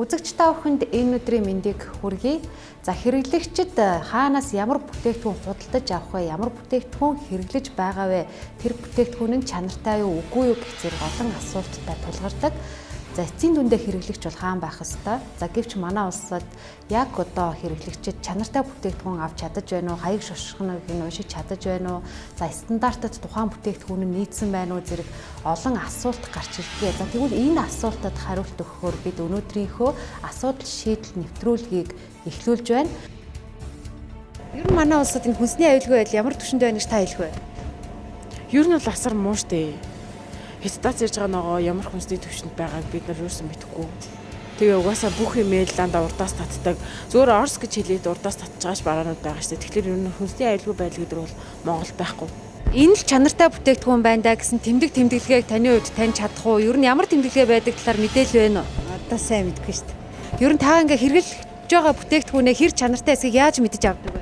Үзэгч та бүхэнд энэ өдрийн мэндийг хүргэе. За хэрэглэгчид хаанаас ямар бүтээгдэхүүн худалдаж авах вэ? Ямар бүтээгдэхүүн хэрэглэж байгаа вэ? Тэр бүтээгдэхүүн нь чанартай юу, үгүй юу гэх зэрэг олон асуулттай тулгардаг. За эцсийн дүндээ хэрэглэгч бол хаан байх ёстой. За гэвч манай улсад яг одоо хэрэглэгчид чанартай бүтээгдэхүүн авч чадаж байна уу? Хаяг шошгоныг нь уншиж чадаж байна уу? За стандартад тухайн бүтээгдэхүүн нь нийцсэн байна уу? Зэрэг олон асуулт гарч ирдэг. За тэгвэл энэ асуултад хариулт өгөхөөр бид өнөөдрийнхөө асуудал шийдэл нэвтрүүлгийг эхлүүлж байна. Ер нь манай улсад энэ хүнсний аюулгүй байдал ямар түвшинд байна гэж та хэлэх вэ? Ер нь бол асар муу штэ. Хятадаас ирж байгаа нөгөө ямар хүнсний түвшинд байгааг бид нар юусэн мэдэхгүй. Тэгээ угаасаа бүх имэйл дандаа урдаас татдаг. Зөвхөн Орс гэж хэлээд урдаас татж байгаач бараанууд байгаа штэ. Тэгэхээр ер нь хүнсний аюулгүй байдал гэдэг бол Монголд байхгүй. Энэ л чанартай бүтээгдэхүүн байна да гэсэн тэмдэглэгийг таны хувьд таньж чадах уу? Ер нь ямар тэмдэглэгээ байдаг талаар мэдээлэл байна уу? Одоо сайн мэдэхгүй штэ. Ер нь та ингээ хэрэглэж байгаа бүтээгдэхүүнээ хэр чанартай эсэхийг яаж мэдэж авдаг вэ?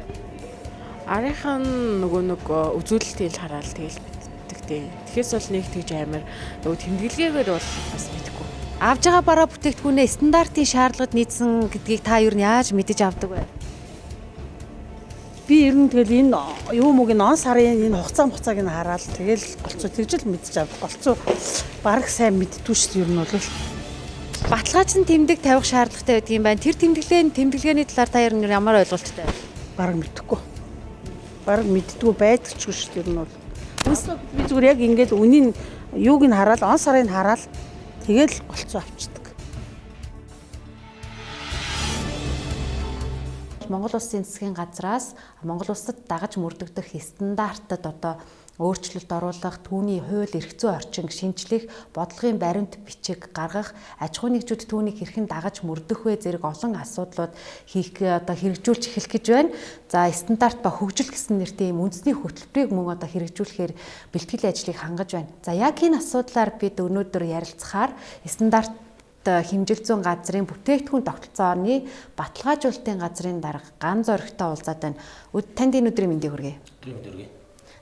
Арийнхаа нөгөө нэг үзүүлэлтийг хараад тэгэл Тэгэхээс бол нэг тэгж амар нөгөө тэмдэглэгээр бол бас мэдэхгүй. Авж байгаа бараа бүтээгдэхүүнээ стандартын шаардлагад нийцсэн гэдгийг та ер нь яаж мэдэж авдаг вэ? Би ер нь тэгэл энэ юу мөг н сарын энэ хугацааг нь хараад тэгэл голцоо тэгжэл мэдэж авдаг. Голцоо бараг сайн мэддгүй шүү дээ ер нь бол. Баталгаажсан тэмдэг тавих шаардлагатай байдаг юм байна. Тэр тэмдэглэгээний талаар та ер нь ямар ойлголттой вэ? Бараг мэдэхгүй. Бараг мэддгүй байдагчгүй шүү дээ ер нь бол. Би зүгээр яг ингээд үнийн юуг нь хараад он сарыг хараад тэгэл голцоо авчдаг. Монгол Улсын засгийн газраас Монгол Улсад дагаж мөрдөгдөх стандартад одоо өөрчлөлт оруулах, түүний хууль эрх зүйн орчин шинжлэх, бодлогын баримт бичиг гаргах, аж ахуйн нэгжүүд түүнийг хэрхэн дагаж мөрдөх вэ зэрэг олон асуудлууд хэрэгжүүлж эхлэх гэж байна. За стандарт ба хөгжил гэсэн нэртэй юм үндэсний хөтөлбөрийг мөн хэрэгжүүлэхээр бэлтгэл ажлыг хангаж байна. За яг энэ асуудлаар бид өнөөдөр ярилцахаар стандарт хэмжил зүйн газрын бүтээгдэхүүн тогтолцооны баталгаажуулалтын газрын дарга Ган Зоригтой уулзаад байна. Танд энэ өдрийн мэндийг хүргэе.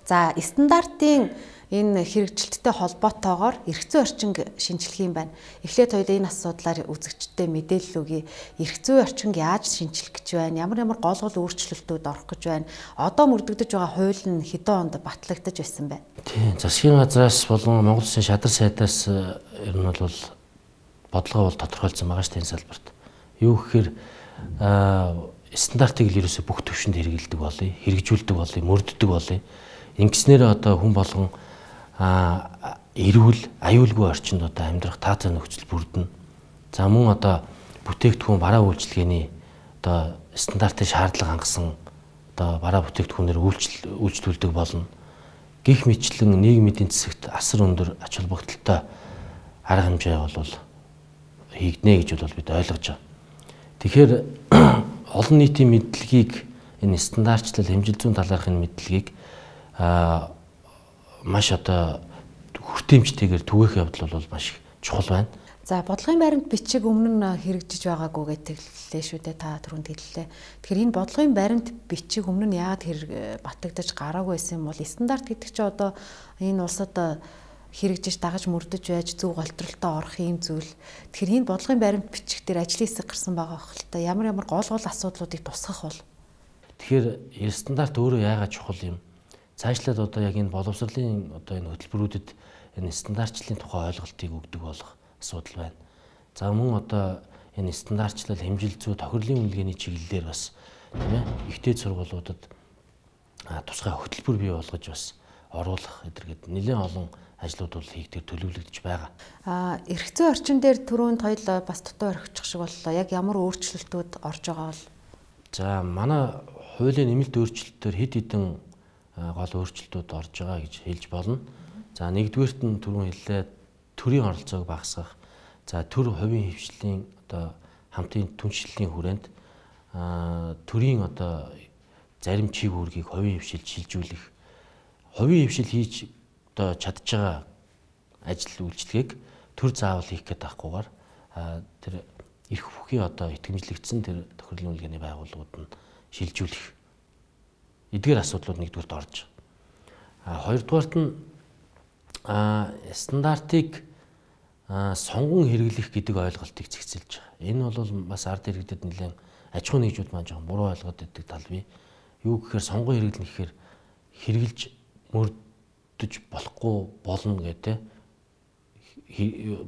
За стандартын энэ хэрэгжилттэй холбоотойгоор эрх зүйн орчинг шинжлэх юм байна. Эхлээд хоёул энэ асуудлаар үзэгчдэд мэдээлэл өгье. Эрх зүйн орчинг яаж шинжлэх гэж байна? Ямар гол өөрчлөлтүүд орох гэж байна? Одоо мөрдөгдөж байгаа хууль нь хэдэн онд батлагдаж байсан бэ? Тийм. Засгийн газраас болон Монгол Улсын шадар сайдаас ер нь бол бодлого бол тодорхойлсон байгаа шүү дээ энэ салбарт. Юу гэхээр стандартыг л ерөөсө бүх төвшөнд хэрэгэлдэг болъё, хэрэгжүүлдэг болъё, мөрддөг болъё. Ингэснээр одоо хүн болгон эрүүл, аюулгүй орчинд одоо амьдрах таатай нөхцөл бүрдэнэ. За мөн одоо бүтээгдэхүүн бараа үйлчилгээний одоо стандартын шаардлага хангасан одоо бараа бүтээгдэхүүнээр үйлчлүүлдэг болно. Гэх мэтчлэн нийгмийн эдийн засагт асар өндөр ач холбогдолтой арга хэмжээ бол хийгднэ гэж бол бид ойлгож байгаа. Тэгэхээр олон нийтийн мэдлэгийг энэ стандартчлал хэмжил зүйн талаархын мэдлэгийг маш одоо хүртээмжтэйгээр түгээх явдал бол маш чухал байна. За бодлогын баримт бичиг өмнө нь хэрэгжиж байгаагүй гэдэг хэллээ шүү дээ та түрүүнд хэллээ. Тэгэхээр энэ бодлогын баримт бичиг өмнө нь яагаад батагдаж гараагүй байсан юм бол стандарт гэдэг чинь одоо энэ улсад хэрэгжиж дагаж мөрдөж байж зөв голтролтой орох юм зүйл. Тэгэхээр энэ бодлогын баримт бичиг дээр ажлын хэсэг гарсан байгаа хөлтэй ямар гол асуудлуудыг тусгах бол. Тэгэхээр стандарт өөрөө яагаад чухал юм? Цаашлаад одоо яг энэ боловсролын одоо энэ хөтөлбөрүүдэд энэ стандартчлалын тухай ойлголтыг өгдөг болох асуудал байна. За мөн одоо энэ стандартчлал хэмжил зүй тохирлын үнэлгээний чиглэлээр бас тийм ээ ихтэй сургуулиудад тусгай хөтөлбөр бий болгож бас оруулах эдэргээд нэлээд олон ажлууд бол хийгдэр төлөвлөгдөж байгаа. Эрх зүйн орчин дээр түрүүнд хоёул бас дутуу орхичих шиг боллоо. Яг ямар өөрчлөлтүүд орж байгаа бол? За манай хуулийн нэмэлт өөрчлөлтөөр хэд хэдэн гол өөрчлөлтүүд орж байгаа гэж хэлж болно. За нэгдүгээрт нь түрүүн хэллээ төрийн оролцоог багасгах. За төр хувийн хвшлийн одоо хамтын түншлэлийн хүрээнд төрийн одоо зарим чиг үүргийг хувийн хвшилд шилжүүлэх. Хувийн хвшил хийж одоо чадж байгаа ажил үйлчлэгийг төр заавал хийх гээд байхгүйгээр тэр эрх бүхий одоо итгэмжлэгдсэн тэр тохирлын үнэлгээний байгууллагууд нь шилжүүлэх. Эдгээр асуудлууд нэгдүгээрт орж. Хоёрдугаарт нь стандартыг сонгон хэрэглэх гэдэг ойлголтыг зэгцэлж байгаа. Энэ бол бас ард иргэдэд нэлээд аж ахуй нэгжүүд маань жоохон буруу ойлгоод байдаг тал бий. Юу гэхээр сонгон хэрэглэнэ гэхээр хэрэгжилж мөрдөж болохгүй болно гэдэг.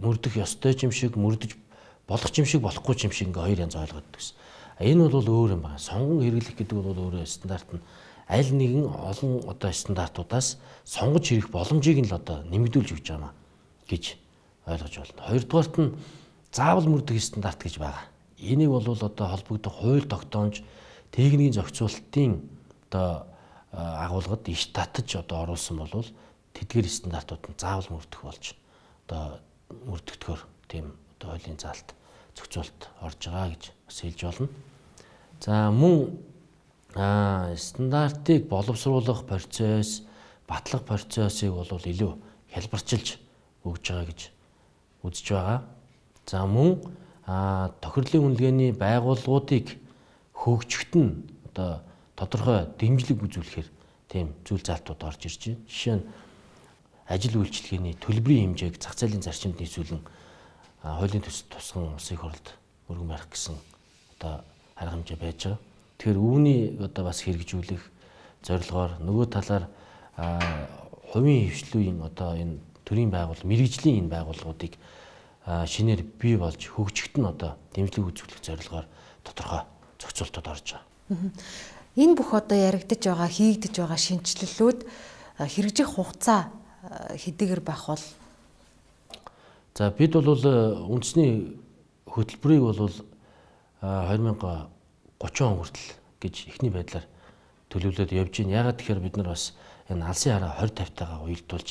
Мөрдөх ёстой юм шиг, мөрдөж болох юм шиг, болохгүй юм шиг ингээ хоёр янз ойлгоод байсан. Энэ бол өөр юм байна. Сонгон хэрэглэх гэдэг бол өөрөө стандарт нь аль нэгэн олон одоо стандартуудаас сонгож хэрэгэх боломжийг нь л одоо нэмэгдүүлж өгч байгаа гэж ойлгож байна. Хоёрдугаарт нь заавал мөрдөх стандарт гэж байгаа. Энийг бол одоо холбогдох хууль тогтоомж техникийн зохицуулалтын одоо агуулгад иш татаж одоо оруулсан бол тэдгээр стандартууд нь заавал мөрдөх болж одоо мөрдөгдөхөөр тийм одоо хуулийн заалт зохицуулалт орж байгаа гэж бас хэлж болно. За мөн стандартыг боловсруулах процесс, батлах процессыг бол илүү хялбарчилж өгж байгаа гэж үзэж байгаа. За мөн тохирлын үнэлгээний байгууллагуудыг хөгжихт нь одоо тодорхой дэмжлэг үзүүлэхээр тийм зүйл заалтууд орж ирж байна. Жишээ нь ажил үйлчилгээний төлбөрийн хэмжээг зах зээлийн зарчимд нийцүүлэн хуулийн тусган улсын их хурлд өргөн барих гэсэн одоо арга хэмжээ байж байгаа. Тэгэхээр үүний одоо бас хэрэгжүүлэх зорилгоор нөгөө талаар хувийн хвшлүүийн одоо энэ төрийн байгууллага, мэрэгжлийн энэ байгууллагуудыг шинээр бий болж хөгжихт нь одоо дэмжлэг үзүүлэх зорилгоор тодорхой зохицуултууд орж байгаа. Энэ бүх одоо яригдж байгаа, хийгдэж байгаа шинжилэлүүд хэрэгжих хугацаа хэдийгээр байх бол за бид бол үндэсний хөтөлбөрийг бол 2030 он хүртэл гэж эхний байдлаар төлөвлөд явж байна. Ягаад тэгэхээр бид нар бас энэ алсын хараа 20-50-тайгаа уялдуулж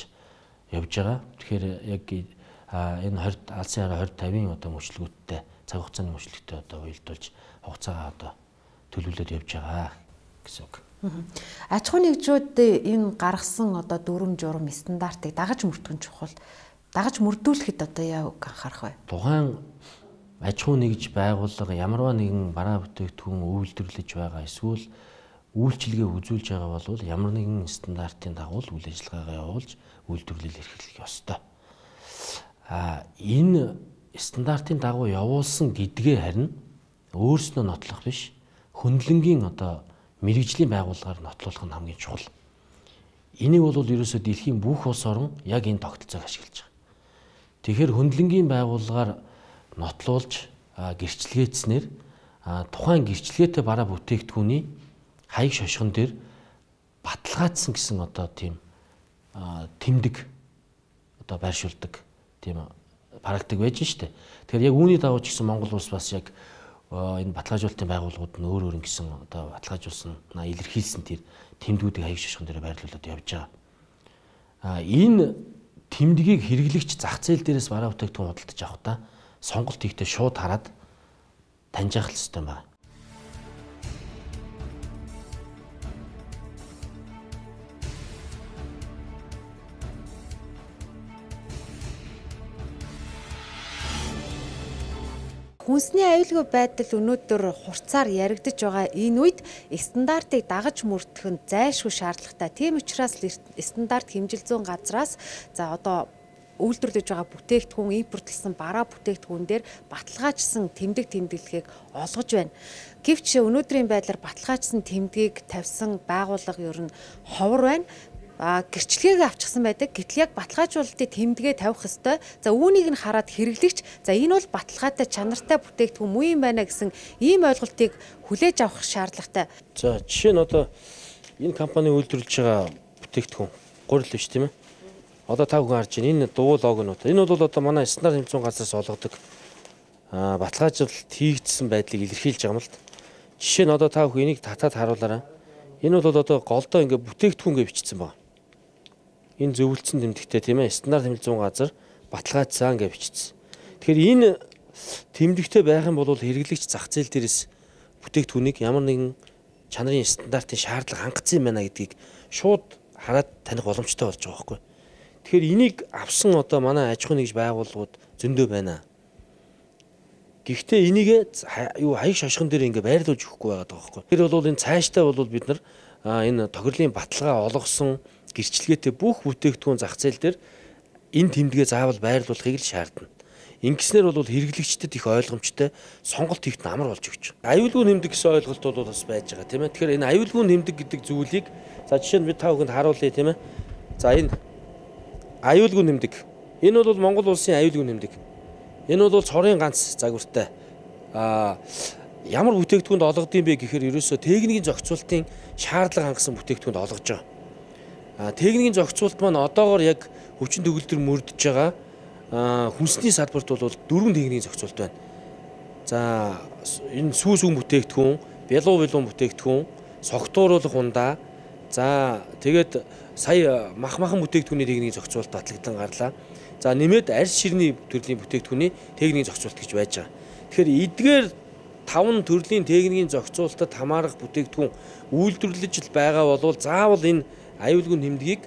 явж байгаа. Тэгэхээр яг энэ алсын хараа 20-50-ийн одоо мөчлөгүүдтэй цаг хугацааны мөчлөгтэй одоо уялдуулж хугацаагаа одоо төлөвлөд явж байгаа гэсэн үг. Аж ахуй нэгжүүд энэ гаргасан одоо дүрм журм стандартыг дагаж мөрдөх чухал. Дагаж мөрдүүлэхэд одоо яа үг анхаарах вэ? Тухайн аж ахуй нэгж байгууллага ямарваа нэгэн бараа бүтээгдэхүүн үйлдвэрлэж байгаа эсвэл үйлчилгээ үзүүлж байгаа бол ямар нэгэн стандартын дагуу үйл ажиллагаагаа явуулж үйлдвэрлэл эрхлэх ёстой. Энэ стандартын дагуу явуулсан гэдгээ харин өөрснөө нотлох биш, хөндлөнгийн одоо мэрэгжлийн байгууллагаар нотлуулах нь хамгийн чухал. Энийг бол ерөөсөө дэлхийн бүх улс орон яг энэ тогтолцоог ашиглаж байгаа. Тэгэхээр хөндлөнгийн байгууллагаар нотлуулж гэрчлэгээцснээр тухайн гэрчлэгээтэй бараа бүтээгдэхүүний хаяг шошгон дээр баталгаажсан гэсэн одоо тийм тэмдэг одоо байршуулдаг тийм практик байж штэ. Тэгэхээр яг үүний дагуу ч гэсэн Монгол улс бас яг энэ баталгаажуулалтын байгууллагууд нь өөр өөр гэсэн одоо баталгаажуулсан илэрхийлсэн тэр тэмдгүүдийг хаяг шошгон дээр байрлуулад явж байгаа. Энэ тэмдгийг хэрэглэгч зах зээл дээрээс бараа бүтээгдэхүүн худалдаж авахдаа сонголт хийхдээ шууд хараад таньжаах хэрэгтэй байна. Хүнсний аюулгүй байдал өнөөдөр хурцаар яригдж байгаа энэ үед стандартыг дагаж мөрдөх нь зайлшгүй шаардлагатай. Тийм учраас стандарт хэмжил зүйн газраас за одоо үйлдвэрлэж байгаа бүтээгдэхүүн импортлсон бараа бүтээгдэхүүн дээр баталгаажсан тэмдэг тэмдэглэхийг олгож байна. Гэвч өнөөдрийн байдлаар баталгаажсан тэмдгийг тавьсан байгууллага ер нь ховор байна. Гэрчлэгийг авчихсан байдаг. Гэтэл яг баталгаажуулалтын тэмдэгэ тавих ёстой. За үүнийг нь хараад хэрэглэгч за энэ бол баталгаатай чанартай бүтээгдэхүүн муу юм байна гэсэн ийм ойлголтыг хүлээж авах шаардлагатай. За жишээ нь одоо энэ компани үйлдвэрлэж байгаа бүтээгдэхүүн гурил биш тийм ээ. Одоо та бүхэн харж байна. Энэ дуул логонууд. Энэ бол одоо манай стандарт хэмжүүн газраас олгодог баталгаажуулалт хийгдсэн байдлыг илэрхийлж байгаа юм л. Жишээ нь одоо та бүхэн энийг татаад харуулаарай. Энэ бол одоо голдоо ингээ бүтээгдэхүүнгээ бичсэн байна. Энэ зөвлөсөн тэмдэгтээ тийм ээ стандарт хэмжүүн газар баталгаажсан гэж бичсэн. Тэгэхээр энэ тэмдэгтээ байх юм бол хэрэглэгч зах зээл дээрээс бүтээгдэхүүнийг ямар нэгэн чанарын стандартын шаардлага хангацсан юм байна гэдгийг шууд хараад таних боломжтой болж байгаа байхгүй. Тэгэхээр энийг авсан одоо манай аж ахуй нэгж байгууллагууд зөндөө байна. Гэхдээ энийг хаяг шошгон дээр ингээ байрлуулж өгөхгүй байгаа байхгүй. Тэр бол энэ цааштай бол бид нар энэ тохирлын баталгаа олгосон гэрчлэгээтэй бүх бүтээгдэхүүн зах зээл дээр энэ тэмдгээ заавал байрлуулахыг л шаардна. Ингэснээр бол хэрэглэгчдэд их ойлгомжтой сонголт хийхэд амар болж өгч байгаа. Аюулгүй нэмдэг гэсэн ойлголт бол бас байж байгаа тийм ээ. Тэгэхээр энэ аюулгүй нэмдэг гэдэг зүйлийг за жишээ нь бид та бүхэнд харуулъя тийм ээ. За энэ аюулгүй нэмдэг. Энэ бол Монгол улсын аюулгүй нэмдэг. Энэ бол цорын ганц загвартай. Ямар бүтээгдэхүүнд олгодсон бэ гэхээр ерөөсөө техникийн зохицуултын шаардлага хангасан бүтээгдэхүүнд олгож байгаа. Техникийн зохицуулт маань одоогоор яг хүчин төгөлдөр мөрдөж байгаа. Хүнсний салбарт бол 4 техникийн зохицуулт байна. За энэ сүүс үн бүтээгдэхүүн, бялуун бүтээгдэхүүн, согтууруулах ундаа. За тэгээд сая махан бүтээгдэхүүний техникийн зохицуулт батлагдсан гарлаа. За нэмээд арьс ширний төрлийн бүтээгдэхүүний техникийн зохицуулт гэж байж байгаа. Тэгэхээр эдгээр 5 төрлийн техникийн зохицуултад хамаарах бүтээгдэхүүн үйлдвэрлэж байгаа бол заавал энэ аюулгүй нэмдгийг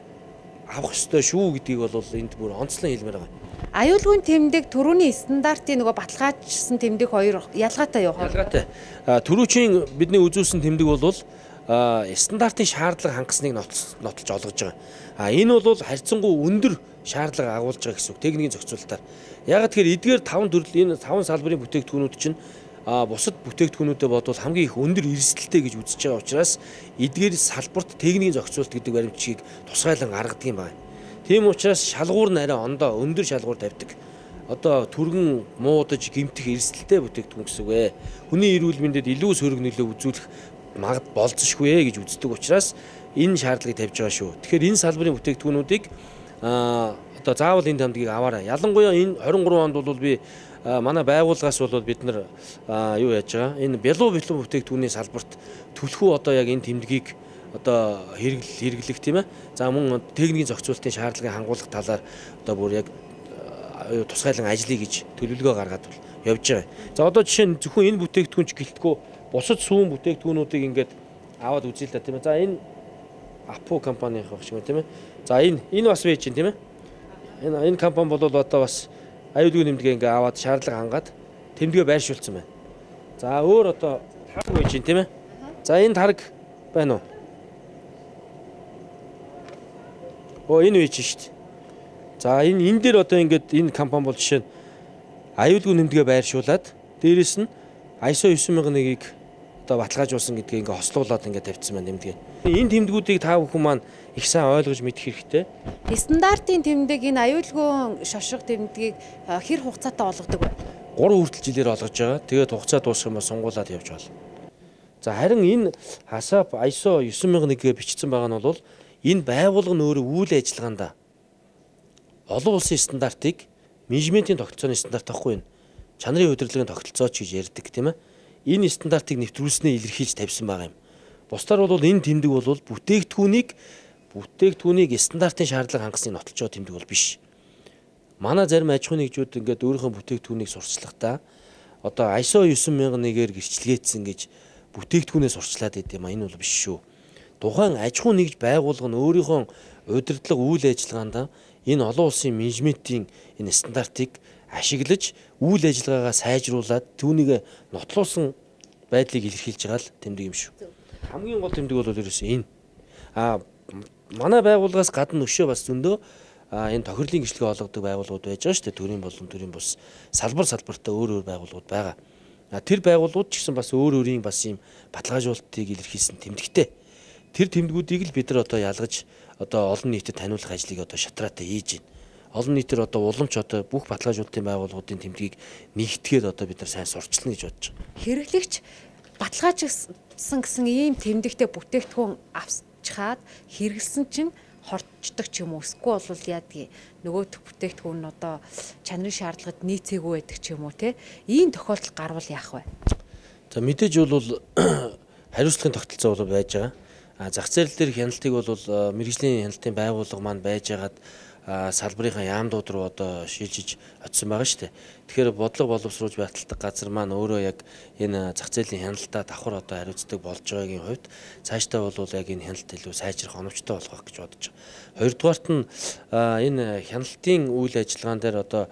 авах ёстой шүү гэдгийг бол энд бүр онцлон хэлмээр байгаа. Аюулгүй тэмдэг төрөүний стандартын нөгөө баталгаажсан тэмдэг хоёр ялгаатай юу? Ялгаатай. Төрүүчийн бидний үзүүлсэн тэмдэг бол стандартын шаардлага хангасныг нотолж олгож байгаа. Энэ бол харьцангуй өндөр шаардлага агуулж байгаа гэсэн үг техникийн зохицуулалтаар. Яг тэгэхээр эдгээр 5 төрлийн энэ 5 салбарын бүтээгдэхүүнүүд чинь бусад бүтээгдэхүүнүүдэд бодвол хамгийн их өндөр эрсдэлтэй гэж үзэж байгаа учраас эдгээр салбарт техникийн зохицуулалт гэдэг баримтчийг тусгайлан гаргадаг юм байна. Тийм учраас шалгуур нь арай ондоо өндөр шалгуур тавьдаг. Одоо түргэн муудаж гэмтэх эрсдэлтэй бүтээгдэхүүн гэсэн үг ээ. Хүний эрүүл мэндэд илүү сөрөг нөлөө үзүүлэх болцсошгүй ээ гэж үздэг учраас энэ шаардлагыг тавьж байгаа шүү. Тэгэхээр энэ салбарын бүтээгдэхүүнүүдийг одоо заавал энэ тэмдгийг аваарай. Ялангуяа энэ 23 онд бол би манай байгууллагаас бол бид нар юу яаж байгаа? Энэ бялуун бүтээгдэхүүний салбарт төлхөө одоо яг энэ тэмдгийг одоо хэрэглэх тийм ээ. За мөн техникийн зохицуулалтын шаардлагыг хангуулах талаар одоо бүр яг тусгайлан ажиллая гэж төлөвлөгөө гаргаад явж байгаа. За одоо жишээ нь зөвхөн энэ бүтээгдэхүүнч гэлтгүү бусад сүүн бүтээгдэхүүнүүдийг ингээд аваад үзье л да тийм ээ. За энэ Апу компанийн байх шиг тийм ээ. За энэ бас байж чинь тийм ээ. Энэ компани бол одоо бас аюулгүй нэмдгээ ингээд аваад шаардлага хангаад тэмдгээ байршуулсан байна. За өөр одоо тарг байж чинь тийм ээ. За энэ тарг байна уу? Энэ үйч шүү дээ. За энэ дээр одоо ингээд энэ компани бол жишээ нь аюулгүй нэмдгээ байршуулад дээрэс нь ISO 9001-ийг одоо баталгаажуулсан гэдгийг ингээд хослуулад ингээд тавьчихсан байна нэмдгээ. Энэ тэмдгүүдийг та бүхэн маань их сайн ойлгож мэдэх хэрэгтэй. Стандартын тэмдэг энэ аюулгүй шошго тэмдгийг хэр хугацаатай олгодог вэ? 3 хүртэл жилээр олгож байгаа. Тэгээд хугацаа дуусах юм бол сунгуулад явж байна. За харин энэ хасап ISO 9001-гээ бичсэн байгаа нь бол энэ байгууллага нь өөрөө үйл ажиллагаанд олон улсын стандартыг менежментийн тогтолцооны стандарт авахгүй энэ чанарын удирдлагын тогтолцооч гэж ярьдаг тийм ээ. Энэ стандартыг нэвтрүүлснээ илэрхийлж тавьсан байгаа юм. Бусдаар бол энэ тэмдэг бол бүтээгдэхүүнийг стандартын шаардлага хангасныг нотолж байгаа тэмдэг бол биш. Манай зарим аж ахуйн нэгжүүд ингээд өөрийнхөө бүтээгдэхүүнийг сурчлахдаа одоо ISO 9001-ээр гэрчлэгээдсэн гэж бүтээгдэхүүнээ сурчлаад байд юм а энэ бол биш шүү. Тухайн аж ахуйн нэгж байгууллага нь өөрийнхөө удирдлага үйл ажиллагаанд энэ олон улсын менежментийн энэ стандартыг ашиглаж үйл ажиллагаагаа сайжруулад түүнийг нотлуулсан байдлыг илэрхийлж байгаа л тэмдэг юм шүү. Хамгийн гол тэмдэг бол ерөөсөө энэ. Манай байгууллагаас гадна өшөө бас зөндөө энэ тохирлын гэрчлэгээ олгодог байгууллагууд байж байгаа шүү дээ. Төрийн болон төрийн бус салбартаа өөр байгууллагууд байгаа. Тэр байгууллагууд ч гэсэн бас өөр өөрийн бас ийм баталгаажуулалтыг илэрхийлсэн тэмдэгтэй. Тэр тэмдгүүдийг л бид нар одоо ялгаж одоо олон нийтэд таниулах ажлыг одоо шатраатай хийж байна. Олон нийтээр одоо уламж одоо бүх баталгаажуулалтын байгууллагуудын тэмдгийг нэгтгээд одоо бид нар сайн сурчлана гэж бодож байгаа. Хэрэглэгч баталгаажсан гэсэн ийм тэмдэгтэй бүтээгдэхүүн авчхаад хэрэгэлсэн чинь хорчдог ч юм уу эсвэл бол яадгийг нөгөөх бүтээгдэхүүн нь одоо чанарын шаардлагад нийцээгүй байдаг ч юм уу те ийм тохиолдол гарвал яах вэ? За мэдээж бол хариуцлагын тогтолцоо бол байж байгаа. Зах зээл дээр хяналтыг бол мэргэжлийн хяналтын байгууллага маань байжгаад салбарынхаа яамдууд руу одоо шилжиж очсон байгаа шүү дээ. Тэгэхээр бодлого боловсруулж баталдаг газар маань өөрөө яг энэ зах зээлийн хяналтаа давхар одоо хариуцдаг болж байгаагийн хувьд цаашдаа бол яг энэ хяналт илүү сайжрах оновчтой болох гэж бодож байгаа. Хоёрдугаарт нь энэ хяналтын үйл ажиллагаан дээр одоо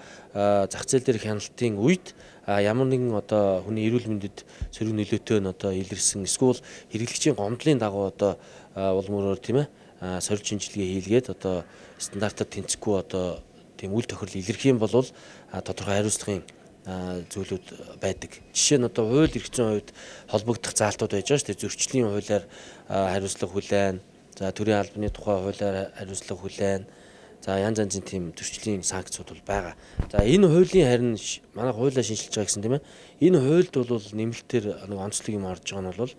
зах зээл дээр хяналтын үед ямар нэгэн одоо хүний эрүүл мэндэд сөрөг нөлөөтэй нь одоо илэрсэн эсвэл хэрэглэгчийн гомдлын дагуу одоо улмөрөөр тийм ээ сорилт шинжилгээ хийлгээд одоо стандартад тэнцэхгүй одоо тийм үйл тохирол илэрх юм бол тодорхой хариуцлагын зүйлүүд байдаг. Жишээ нь одоо хууль эрх зүйн хувьд холбогдох заалтууд байж байгаа шүү дээ. Зөрчлийн хуулиар хариуцлага хүлээн, за төрийн албаны тухай хуулиар хариуцлага хүлээн, за янз янзын тийм зөрчлийн санкцууд бол байгаа. За энэ хуулийн харин манай хуулиа шинжилж байгаа гэсэн тийм ээ. Энэ хуульд бол нэмэлтээр нэг онцлог юм орж байгаа нь бол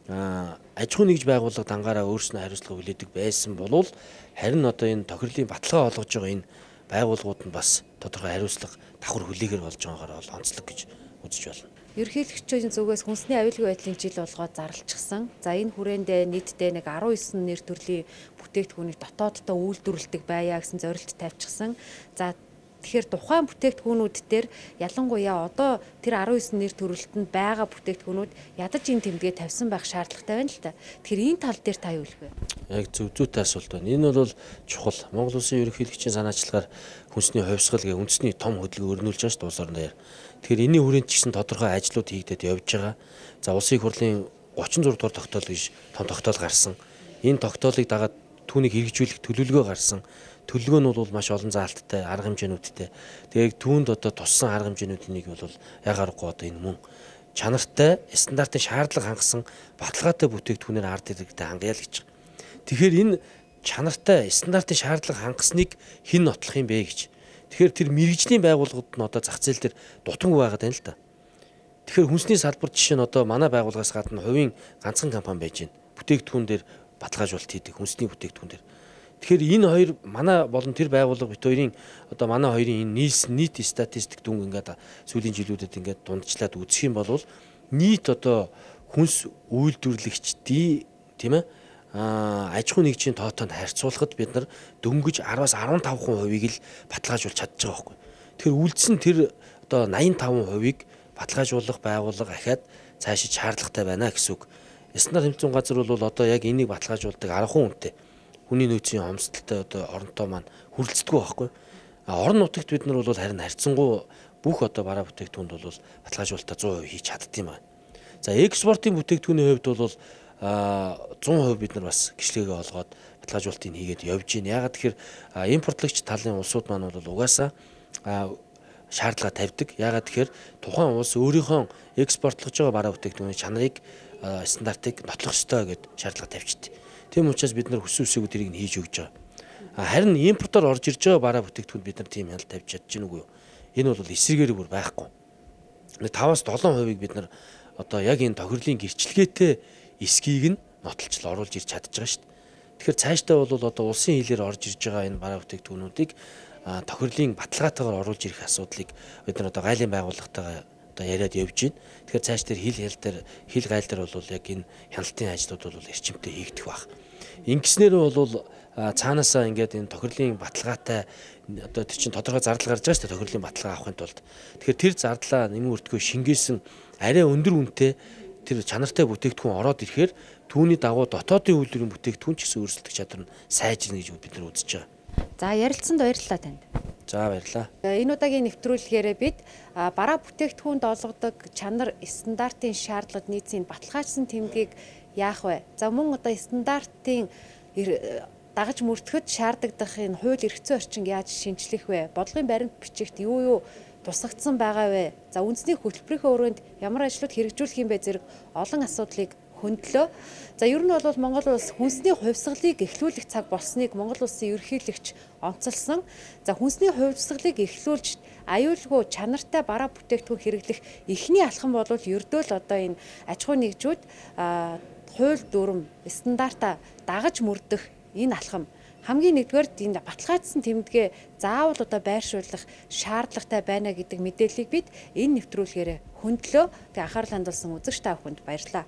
аж ахуй нэгж байгууллага дангаараа өөрснөө хариуцлага хүлээдэг байсан болвол харин одоо энэ тохирлын баталгаа олгож байгаа энэ байгууллагууд нь бас тодорхой хариуцлага давхар хүлээгээр болж байгаагаар бол онцлог гэж үзэж байна. Ерөнхийлөгчийн зүгээс хүнсний аюулгүй байдлын жил болгоод зарлчихсан. За энэ хүрээндээ нийтдээ нэг 19 нэр төрлийн бүтээгдэхүүнийг дотооддоо үйлдвэрлэдэг байя гэсэн зорилт тавьчихсан. За тэгэхээр тухайн бүтээгдэхүүнүүд дээр ялангуяа одоо тэр 19 нэр төрөлтөнд байгаа бүтээгдэхүүнүүд ядаж энэ тэмдгээ тавьсан байх шаардлагатай байна л та. Тэгэхээр энэ тал дээр та юу хэлэх вэ? Яг зүйтэй асуулт байна. Энэ бол чухал. Монгол Улсын ерөнхийлөгчийн санаачлагаар хүнсний хувьсгал гэх үндэсний том хөдөлгөөн өрнүүлж байгаа шүү дээ улс орон дээр. Тэгэхээр энэний хүрээнд ч гэсэн тодорхой ажлууд хийгдээд явж байгаа. За улсын их хурлын 36 дугаар тогтоол гэж том тогтоол гарсан. Энэ тогтоолыг дагаад түүнийг хэрэгжүүлэх төлөвлөгөө гарсан. Төлөвлөгөө нь бол маш олон заалттай, арга хэмжээнүүдтэй. Тэгээд түүнд одоо туссан арга хэмжээнүүдийн нэг бол яг аргагүй одоо энэ мөн чанартай, стандартын шаардлага хангасан баталгаатай бүтээгдэхүүнээр ард иргэдэд хангая л гэж. Тэгэхээр энэ чанартай, стандартын шаардлага хангасныг хэн нотлох юм бэ гэж. Тэгэхээр тэр мэргэжлийн байгууллагууд нь одоо зах зээл дээр дутангүй байгаад байна л да. Тэгэхээр хүнсний салбар жишээ нь одоо манай байгууллагаас гадна хувийн ганцхан компани байж байна. Бүтээгдэхүүн дээр баталгаажуулалт хийдэг, хүнсний бүтээгдэхүүн дээр. Тэгэхээр энэ хоёр манай болон тэр байгууллага бит хоёрын одоо манай хоёрын энэ нийт статистик дүнг ингээд сүүлийн жилүүдэд ингээд дундчлаад үзэх юм бол нийт одоо хүнс үйлдвэрлэгчдийн тийм ээ аж ахуй нэгжийн тоотонд харьцуулахад бид нар дөнгөж 10-аас 15%-ийг л баталгаажуулж чадж байгаа байхгүй. Тэгэхээр үлдсэн тэр одоо 85%-ийг баталгаажуулах байгууллага ахаад цаашид шаардлагатай байна гэсэн үг. Стандарт хэмжээний газар бол одоо яг энийг баталгаажуулдаг 10 хүнтэй. Хүний нөөцийн хомсдолтой одоо оронтой маань хүрэлцдэггүй байхгүй. Орон нутагт бид нар бол харин харьцангуй бүх одоо бараа бүтээгдэхүүнд бол баталгаажуулалтаа 100% хийж чаддсан юм байна. За экспортын бүтээгдэхүүний хувьд бол 100% бид нар бас гişлэгээ олгоод баталгаажуулалтыг хийгээд явж байна. Ягаад тэгэхээр импортлагч талын улсууд маань бол угаасаа шаардлага тавьдаг. Ягаад тэгэхээр тухайн улс өөрийнхөө экспортлож байгаа бараа бүтээгдэхүүний чанарыг стандартыг нотлох ёстой гэд шаардлага тавьчихдээ. Тийм учраас бид нар хүссэн үсээгүй тэрийг нь хийж өгч байгаа. Харин импортоор орж ирж байгаа бараа бүтээгдэхүүнд бид нар тийм хяналт тавьж чадж гин үгүй юу? Энэ бол эсрэгээр бүр байхгүй. 5-7%-ийг бид нар одоо яг энэ тохирлын гэрчлэгээтэй эсхийг нь нотолж оруулж ирж чадж байгаа шүү дээ. Тэгэхээр цаашдаа бол одоо улсын хилээр орж ирж байгаа энэ бараа бүтээгдэхүүнүүдийг тохирлын баталгаатайгаар оруулж ирэх асуудлыг бид нар одоо гайлын байгууллагатайгаа одоо яриад явж байна. Тэгэхээр цааш дээр хил гайл дээр бол яг энэ хяналтын ажлууд бол эрчимтэй хийгдэх баг. Ингэснээр бол цаанаасаа ингээд энэ тохирлын баталгаатай одоо тэр чинь тодорхой зардал гарч байгаа шүү дээ тохирлын баталгаа авахын тулд. Тэгэхээр тэр зардлаа нэмэн өртгөө шингээсэн арай өндөр үнэтэй тэр чанартай бүтээгдэхүүн ороод ирэхээр түүний дагуу дотоодын үйлдвэрийн бүтээгдэхүүн ч гэсэн өрсөлдөх чадвар нь сайжирна гэж бид нар үзэж байгаа. За ярилцсанд баярлалаа танд. За баярлалаа. Энэ удаагийн нэвтрүүлгээр бид бараа бүтээгдэхүүнд олгодог чанар стандартын шаардлагад нийцсэн баталгаажсан тэмдгийг яах вэ? За мөн одоо стандартын дагаж мөрдөхөд шаардагдах энэ хууль эрх зүйн орчинг яаж шинжлэх вэ? Бодлогын баримт бичигт юу тусгагдсан байгаа вэ? За үндэсний хөтөлбөрийнхөө өрөөнд ямар ажлууд хэрэгжүүлэх юм бэ зэрэг олон асуудлыг хөндлөө. За ер нь бол Монгол улс хүнсний хувьсгалыг эхлүүлэх цаг болсныг Монгол улсын ерөнхийлөгч онцолсон. За хүнсний хувьсгалыг эхлүүлж аюулгүй чанартай бараа бүтээгдэхүүн хэрэглэх эхний алхам бол ердөө л одоо энэ аж ахуй нэгжүүд хууль дүрм стандарта дагаж мөрдөх энэ алхам хамгийн нэгдүгээр энэ баталгаажсан тэмдгээ заавал одоо байршуулах шаардлагатай байна гэдэг мэдээллийг бид энэ нэвтрүүлгээр хөндлөө. Тэгээ анхаарал хандуулсан үзэгч та бүхэнд баярлалаа.